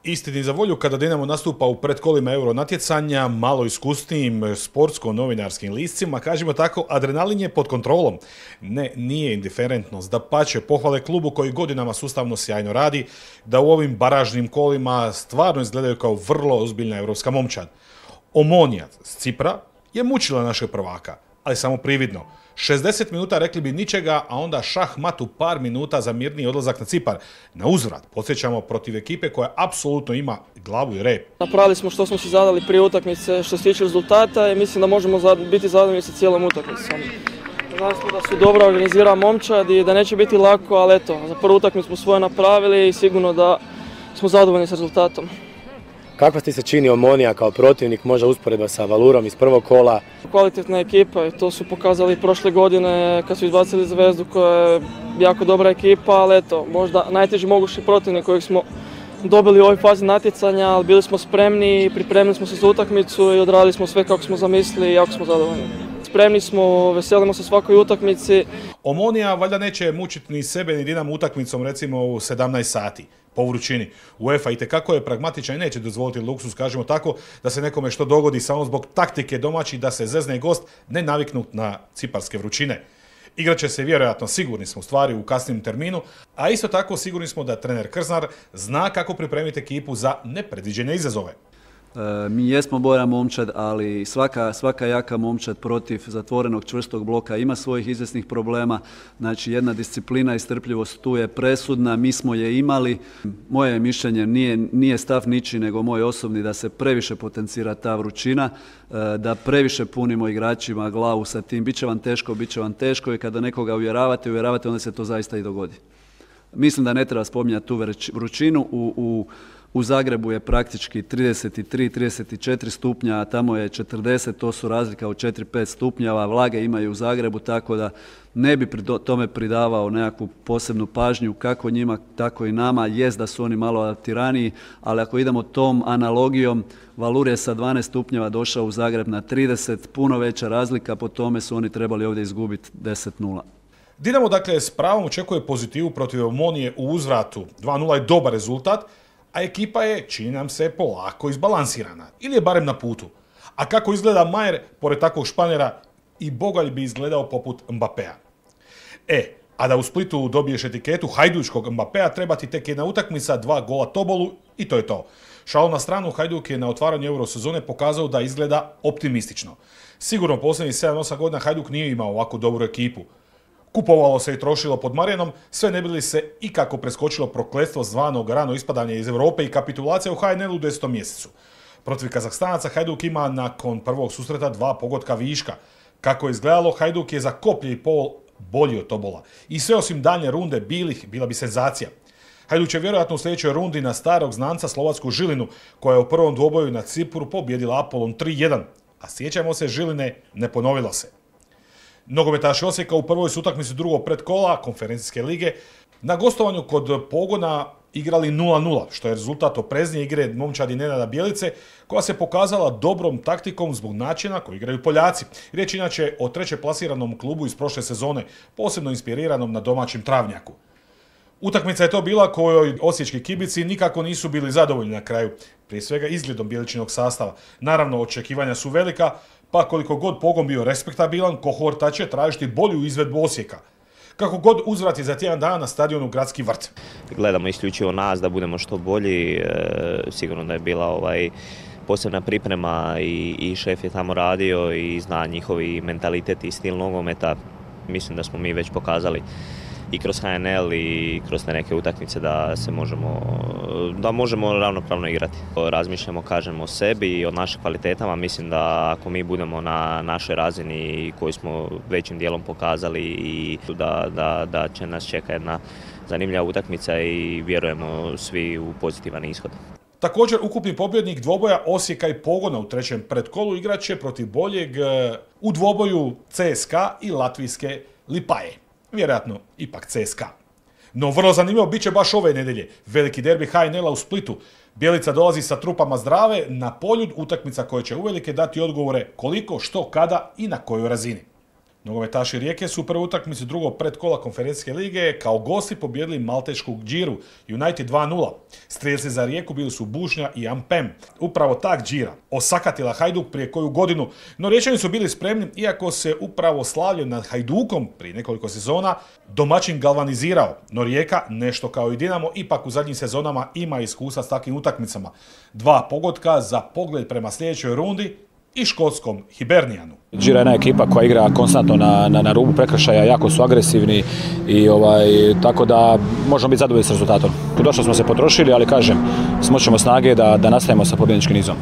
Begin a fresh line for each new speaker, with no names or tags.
Istini za volju, kada Dinamo nastupa u predkolima Euro natjecanja, malo iskusnijim sportsko-novinarskim liscima, kažemo tako, adrenalin je pod kontrolom. Ne, nije indiferentnost, dapače, pohvale klubu koji godinama sustavno sjajno radi, da u ovim baražnim kolima stvarno izgledaju kao vrlo ozbiljna europska momčad. Omonija s Cipra je mučila našeg prvaka, ali samo prividno. 60 minuta rekli bi ničega, a onda šah mat u par minuta za mirniji odlazak na Cipar. Na uzvrat, podsjećamo, protiv ekipe koja apsolutno ima glavu i rep.
Napravili smo što smo si zadali prije utakmice što se tiče rezultata i mislim da možemo biti zadovoljni sa cijelom utakmicom. Znali smo da su dobro organizirana momčad i da neće biti lako, ali eto, za prvu utakmicu smo svoje napravili i sigurno da smo zadovoljni s rezultatom.
Kakva ti se čini Omonija kao protivnik, možda usporedba sa Valurom iz prvog kola?
Kvalitetna ekipa i to su pokazali prošle godine kad su izbacili Zvezdu koja je jako dobra ekipa, ali eto, možda najteži mogući protivnik kojeg smo dobili u ovoj fazi natjecanja, ali bili smo spremni i pripremili smo se za utakmicu i odradili smo sve kako smo zamislili i jako smo zadovoljni. Spremni smo, veselimo se svakoj utakmici.
Omonija valjda neće mučiti ni sebe ni Dinamo utakmicom recimo u 17 sati po vrućini. UEFA itekako je pragmatičan i neće dozvoliti luksuz, kažemo tako, da se nekome što dogodi samo zbog taktike domaći da se zezne gost ne naviknut na ciparske vrućine. Igraće se vjerojatno, sigurni smo, stvari u kasnim terminu, a isto tako sigurni smo da trener Krznar zna kako pripremiti ekipu za nepredviđene izazove.
Mi jesmo bolja momčad, ali svaka jaka momčad protiv zatvorenog čvrstog bloka ima svojih izvjesnih problema. Znači jedna disciplina i strpljivost tu je presudna, mi smo je imali. Moje mišljenje nije stav ničiji nego moj osobni da se previše potencira ta vrućina, da previše punimo igračima glavu sa tim. Biće vam teško i kada nekoga uvjeravate, onda se to zaista i dogodi. Mislim da ne treba spominjati tu vrućinu. U Zagrebu je praktički 33-34 stupnja, a tamo je 40, to su razlika od 4-5 stupnjeva, vlage imaju u Zagrebu, tako da ne bi tome pridavao nekakvu posebnu pažnju, kako njima, tako i nama. Jest da su oni malo adaptiraniji, ali ako idemo tom analogijom, Valur je sa 12 stupnjeva došao u Zagreb na 30, puno veća razlika, po tome su oni trebali ovdje izgubiti 10-0.
Dinamo dakle s pravom očekuje pozitivu protiv Omonije u uzvratu. 2-0 je dobar rezultat, a ekipa je, čini nam se, polako izbalansirana. Ili je barem na putu. A kako izgleda Majer, pored takvog Španjera, i Bogalj bi izgledao poput Mbappéa. A da u Splitu dobiješ etiketu hajdučkog Mbappéa, treba ti tek jedna utakmica, 2 gola Tobolu i to je to. Šalu na stranu, Hajduk je na otvaranju Eurosezone pokazao da izgleda optimistično. Sigurno posljednjih 7-8 godina Hajduk nije imao ovako dobru ekipu. Kupovalo se i trošilo pod Marijanom, sve ne bi li se ikako preskočilo prokletstvo zvanog rano ispadanje iz Europe i kapitulacija u HNL-u u 10. mjesecu. Protiv Kazahstanaca Hajduk ima nakon prvog susreta 2 pogotka viška. Kako je izgledalo, Hajduk je za koplje i pol bolji od Tobola. I sve osim daljnje runde bila bi senzacija. Hajduk će vjerojatno u sljedećoj rundi na starog znanca Slovačku Žilinu, koja je u prvom dvoboju na Cipru pobjedila Apolon 3-1. A sjećamo se, Žiline ne ponovilo se. Nogometaši Osijeka u prvoj su utakmici drugog predkola konferencijske lige na gostovanju kod Pogona igrali 0-0, što je rezultat opreznije igre momčadi Nenada Bjelice, koja se pokazala dobrom taktikom zbog načina koji igraju Poljaci. Riječ inače o treće plasiranom klubu iz prošle sezone, posebno inspiriranom na domaćem Travnjaku. Utakmica je to bila kojoj osječki kibici nikako nisu bili zadovoljni na kraju, prije svega izgledom Bjeličinog sastava. Naravno, očekivanja su velika, pa koliko god Pogon bio respektabilan, kohorta će tražiti bolju izvedbu Osijeka. Kako god uzvrati za tjedan dana na stadionu Gradski vrt.
Gledamo isključivo nas da budemo što bolji, sigurno da je bila posebna priprema i šef je tamo radio i zna njihovi mentalitet i stil nogometa. Mislim da smo mi već pokazali i kroz HNL i kroz te neke utakmice da možemo ravnopravno igrati. Razmišljamo, kažemo o sebi i o našim kvalitetama. Mislim da ako mi budemo na našoj razini koju smo većim dijelom pokazali i da će nas čeka jedna zanimljiva utakmica i vjerujemo svi u pozitivan ishod.
Također, ukupni pobjednik dvoboja Osijeka i Pogona u trećem predkolu igraće protiv boljeg u dvoboju CSKA i latvijske Lipaje. Vjerojatno ipak CSKA. No vrlo zanimljivo bit će baš ove nedjelje. Veliki derbi HNL-a u Splitu. Bjelica dolazi sa trupama zdrave na Poljud, utakmica koja će uvelike dati odgovore koliko, što, kada i na kojoj razini. Nogometaši Rijeke su u prvoj utakmici drugog predkola konferencijske lige kao gosti pobijedili maltešku Džiru United 2-0. Strijelci za Rijeku bili su Bušnja i Ampem. Upravo ta Džira osakatila Hajduk prije koju godinu, no Riječani su bili spremni, iako se upravo slavlje nad Hajdukom prije nekoliko sezona domaćin galvanizirao, no Rijeka, nešto kao i Dinamo, ipak u zadnjim sezonama ima iskustva s takvim utakmicama. 2 pogotka za pogled prema sljedećoj rundi i škotskom Hibernijanu.
Džira je jedna ekipa koja igra konstantno na rubu prekršaja, jako su agresivni i tako da možemo biti zadovoljni s rezultatom. Došlo smo se potrošili, ali kažem, smoćemo snage da nastavimo sa pobjedničkim nizom.